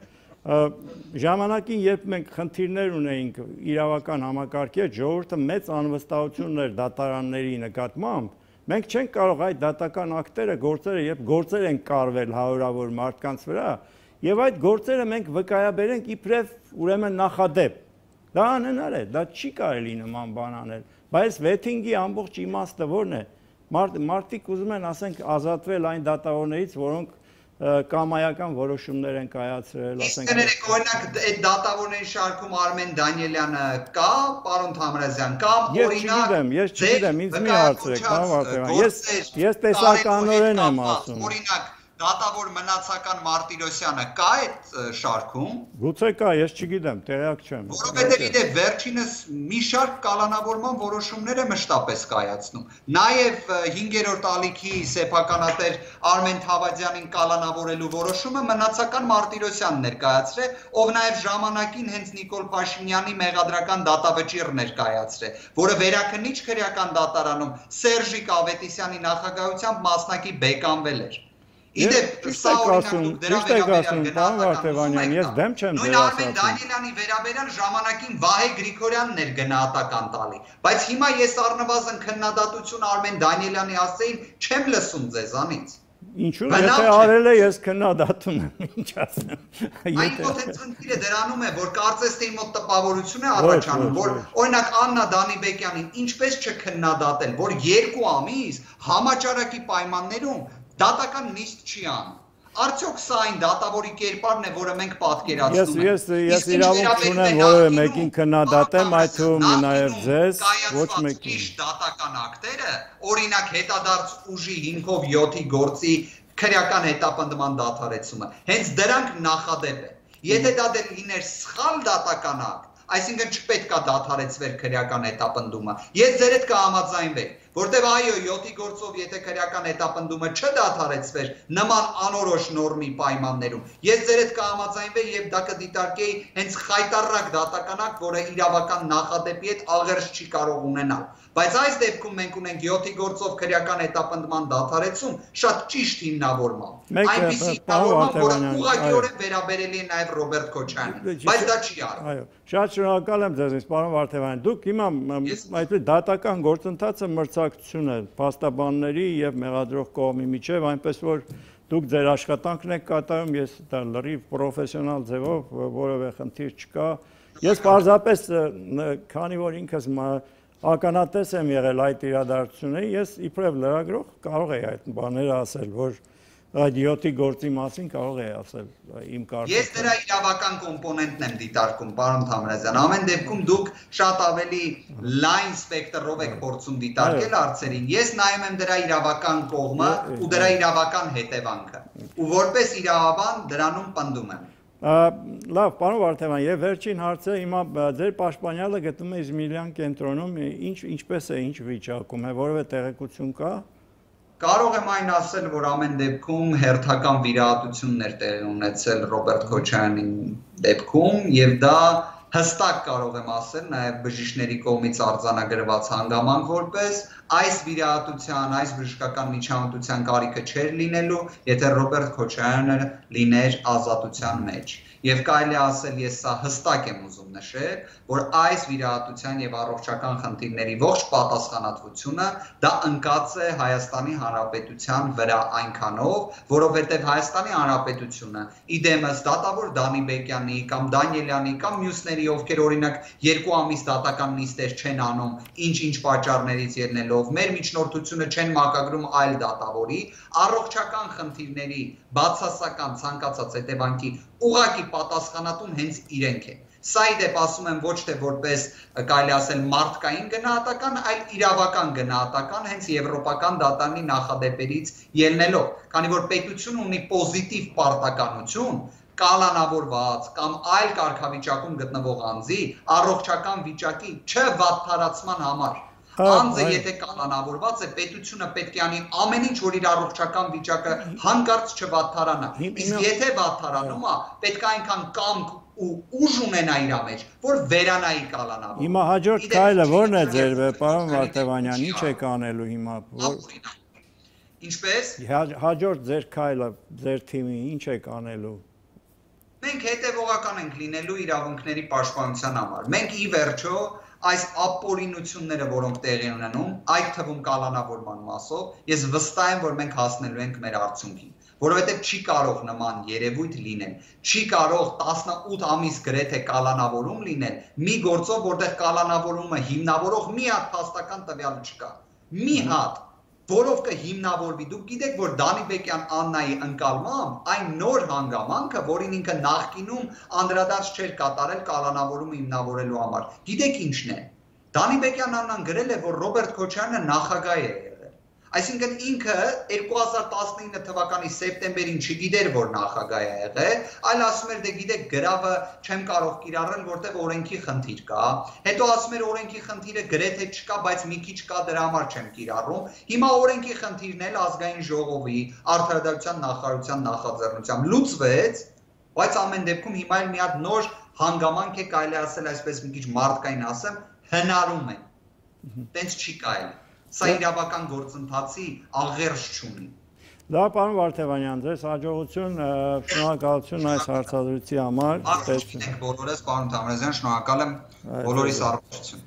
A: Ժամանակին, երբ մենք խնդիրներ ունեինք իրավական համակարգի հետ, ժողովուրդը մեծ անվստահություն ուներ դատարանների նկատմամբ, մենք չենք կարող այդ դատական ակտերը, գործերը, երբ գործեր են կարվել հարյուրավոր մարդկանց վրա, եւ այդ գործերը մենք վկայաբերենք իբրև ուրեմն նախադեպ։ Դա անհնար է, դա չի կարելի նման բան անել, բայց վեթինգի ամբողջ իմաստը ո՞րն է։ Մարդիկ ուզում են, ասենք, ազատվել այն դատավորներից, որոնք կամայական որոշումներ են կայացրել,
B: ասենք։ Իսկ օրինակ այդ դատավորների շարքում Արմեն Դանիելյանը կա, պարոն Թամրազյան, կամ օրինակ
A: ես չգիտեմ, ինձ մի հարցրեք, պարոն Վարդանյան, ես տեսականորեն եմ ասում։
B: Օրինակ դատավոր մնացական Մարտիրոսյանը կա այդ շարքում։
A: Գուցե կա, ես չգիտեմ, տեղյակ չեմ։
B: Որովհետև իդե վերջինս մի շարք կալանավորման որոշումներ է մշտապես կայացնում։ Նաև 5-րդ ալիքի սեփականատեր Արմեն Թավադյանին կալանավորելու որոշումը մնացական Մարտիրոսյանն էր կայացրել, ով նաև ժամանակին հենց Նիկոլ Փաշինյանի մեղադրական դատավճիռն էր կայացրել, որը վերաքննիչ քրեական դատարանում Սերժիկ Ավետիսյանի նախագահությամբ մասնակի բեկանվել էր։
A: Իդեպ սա օրինակ դրա վերաբերյալ
B: պարոն
A: Վարդանյան, ես դեմ չեմ
B: նույն Արմեն Դանիելյանի վերաբերյալ ժամանակին Վահե Գրիգորյանն էր գնահատական տալի, բայց հիմա ես առնվազն քննադատություն Արմեն Դանիելյանի ասեին չեմ լսում ձեզանից։
A: Ինչու՞ եթե արել է ես քննադատում եմ, ինչ ասեմ։
B: Այն մոտ ծնկիրը դրանում է, որ կարծես թե մոտ տպավորություն է առաջանում, որ օրինակ Աննա Դանիբեկյանին ինչպես չքննադատել, որ 2 ամիս համաճարակի պայմաններում դատական նիստ չի անում։ Արդյոք սա այն դատավորի կերպարն է, որը մենք պատկերացնում ենք։
A: Ես իրավունք չունեմ որևէ մեկին քննադատեմ, այդ թվում նաև ձեզ, ոչ մեկին։
B: Ճիշտ դատական ակտերը, օրինակ հետադարձ ուժի հիմքով 7-ի գործի քրեական հետապնդման դադարեցումը, հենց դրանք նախադեպ են։ Եթե դա դեռ լիներ սխալ դատական ակտ, այսինքն չպետք է դադարեցվեր քրեական հետապնդումը։ Ես ձեր հետ կհամաձայնվեի, որտեղ այո 7-ի գործով եթե քրեական հետապնդումը չդադարեցվեր նման անորոշ նորմի պայմաններում, ես ձեր հետ կհամաձայնվեի եւ դա կդիտարկեի հենց խայտառակ դատական ակտ, որը իրավական նախադեպի հետ աղերս չի կարող ունենալ։ Բայց այս դեպքում մենք ունենք 7-ի գործով քրեական հետապնդման դադարեցում շատ ճիշտ հիմնավորմամբ։ Այնպիսի հիմնավորմամբ, որը ուղղակիորեն վերաբերելի է նաև Ռոբերտ Քոչարյանին, բայց դա չի արվում։
A: Այո, շատ շնորհակալ եմ ձեզ, պարոն Վարդանյան։ Դուք հիմա այդպես դատական գործընթացը մրցակցություն է փաստաբանների եւ մեղադրող կողմի միջեւ, այնպես որ դուք ձեր աշխատանքն եք կատարում, ես դա լրիվ պրոֆեսիոնալ ձևով որևէ խնդիր չկա։ Ես պարզապես քանի որ ինքս ականատես եմ եղել այդ իրադարձությունների, ես իբրև լրագրող կարող եի այդ բաները ասել, որ այդ 7-ի գործի մասին կարող եի ասել իմ կարծիքով։
B: Ես դրա իրավական կոմպոնենտն եմ դիտարկում, պարոն Թամրազյան։ Ամեն դեպքում դուք շատ ավելի լայն սպեկտրով եք փորձում դիտարկել հարցերին։ Ես նայում եմ դրա իրավական կողմը ու դրա իրավական հետևանքը։ Ու որպես իրավաբան դրանում պնդում եմ։
A: Լավ, պարոն Վարդանյան, եւ վերջին հարցը հիմա ձեր պաշտպանյալը գտնվում է Իզմիլյան կենտրոնում, ինչպես է, ինչ վիճակում է, որևէ տեղեկություն կա։
B: Կարող եմ այն ասել, որ ամեն դեպքում հերթական վիրահատություններ տեղի ունեցել Ռոբերտ Քոչարյանի դեպքում եւ դա հստակ կարող եմ ասել նաեւ բժիշկների կողմից արձանագրված հանգամանք որպես այս վիրահատության, այս բժշկական միջամտության կարիքը չէր լինելու, եթե Ռոբերտ Քոչարյանը լիներ ազատության մեջ։ Եվ կարելի ասել, ես սա հստակ եմ ուզում նշել, որ այս վիրահատության եւ առողջական խնդիրների ողջ պատասխանատվությունը դա ընկած է Հայաստանի Հանրապետության վրա այնքանով, որովհետեւ Հայաստանի Հանրապետությունը իդեմս դատավոր Դանիբեկյանի կամ Դանիելյանի կամ մյուսների, ովքեր օրինակ 2 ամիս դատական նիստեր չեն անում, ինչ պատճառներից ելնելով, մեր միջնորդությունը չեն մակագրում այլ դատավորի, առողջական խնդիրների բացասական ցանկացած հետևանքի ուղղակի պատասխանատուն հենց իրենք են։ Սա իդեպ ասում եմ ոչ թե որպես կարելի ասել մարդկային գնահատական, այլ իրավական գնահատական հենց եվրոպական դատարանի նախադեպերից ելնելով, քանի որ պետությունը ունի պոզիտիվ պարտականություն կալանավորված կամ այլ կարգավիճակում գտնվող անձի առողջական վիճակի չվատթարացման համար։ Անձը եթե կալանավորված է, պետությունը պետք է անի ամեն ինչ, որ իր առողջական վիճակը հանկարծ չվատթարանա։ Իսկ եթե վատթարանում է, պետք է այնքան կամք ու ուժ ունենա իր մեջ, որ վերանայի կալանավորը։
A: Հիմա հաջորդ քայլը ո՞րն է ձեր, պարոն Վարդանյան, ինչ եք անելու հիմա։
B: Ինչպես։
A: Հաջորդ ձեր քայլը, ձեր թիմի ինչ եք անելու։
B: Մենք հետևողական ենք լինելու իրավունքների պաշտպանության համար։ Մենք ի վերջո այս ապօրինությունները, որոնք տեղի ունենում, այդ թվում կալանավորման մասով, ես վստահ եմ, որ մենք հասնելու ենք մեր արդյունքին, որովհետև չի կարող նման երևույթ լինել, չի կարող 18 ամիս գրեթե կալանավորում լինել մի գործով, որտեղ կալանավորումը հիմնավորող մի հատ փաստական տվյալ չկա, մի հատ, որով կհիմնավորվի, դուք գիտեք, որ Դանիբեկյան Աննայի ընկալմամբ այն նոր հանգամանքը, որին ինքը նախկինում անդրադարձ չէր կատարել կալանավորումը հիմնավորելու համար, գիտեք ինչն է, Դանիբեկյան Աննան գրել է, որ Ռոբերտ Քոչարյանը նախագահ է եղել, այսինքն ինքը 2019 թվականի սեպտեմբերին չգիտեր, որ նախագահ է եղել, այլ ասում էր, դե գիտեք, գրավը չեմ կարող կիրառել, որտեղ օրենքի խնդիր կա, հետո ասում էր օրենքի խնդիրը գրեթե չկա, բայց մի քիչ կա, դրա համար չեմ կիրառում, հիմա օրենքի խնդիրն էլ ազգային ժողովի, արդարադատության նախարարության նախաձեռնությամբ լուծվեց, բայց ամեն դեպքում հիմա էլ մի հատ նոր հանգամանք է, կարելի ասել այսպես մի քիչ մարդկային ասեմ, հնարում է, տենց չի կարելի, սա իրավական գործընթացի աղերս չունի։
A: Դա պարոն Վարդևանյան, ձեզ հաջողություն, շնորհակալություն այս հարցադրույցի համար։
B: Եք բոլորս, պարոն Թամրազյան, շնորհակալ եմ բոլորիս առողջություն։